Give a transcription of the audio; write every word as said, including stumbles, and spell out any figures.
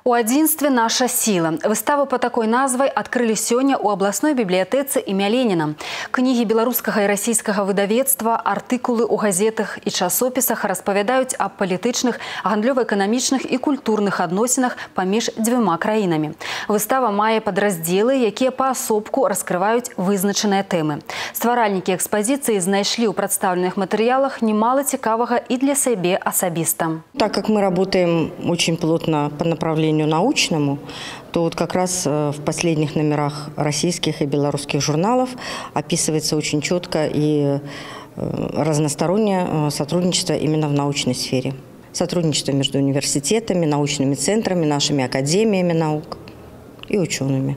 У адзінстве наша сила. Выставу по такой назвай адкрылі сёння ў абласной бібліятэцы імя Леніна. Кнігі беларускага і расійскага выдавецтва, артыкулы ў газетах і часопісах распавядаюць аб палітычных, гандлёва-эканамічных і культурных адносінах паміж дзвюма краінамі. Выстава мае падраздзелы, якія паасобку раскрываюць вызначаныя тэмы. Стваральнікі экспазіцыі знайшлі ў прадстаўленых матэрыялах немало цікавага і для сябе асабіста. Так как мы работаем очень плотно по направлению научному, то вот как раз в последних номерах российских и белорусских журналов описывается очень четко и разностороннее сотрудничество именно в научной сфере. Сотрудничество между университетами, научными центрами, нашими академиями наук и учеными.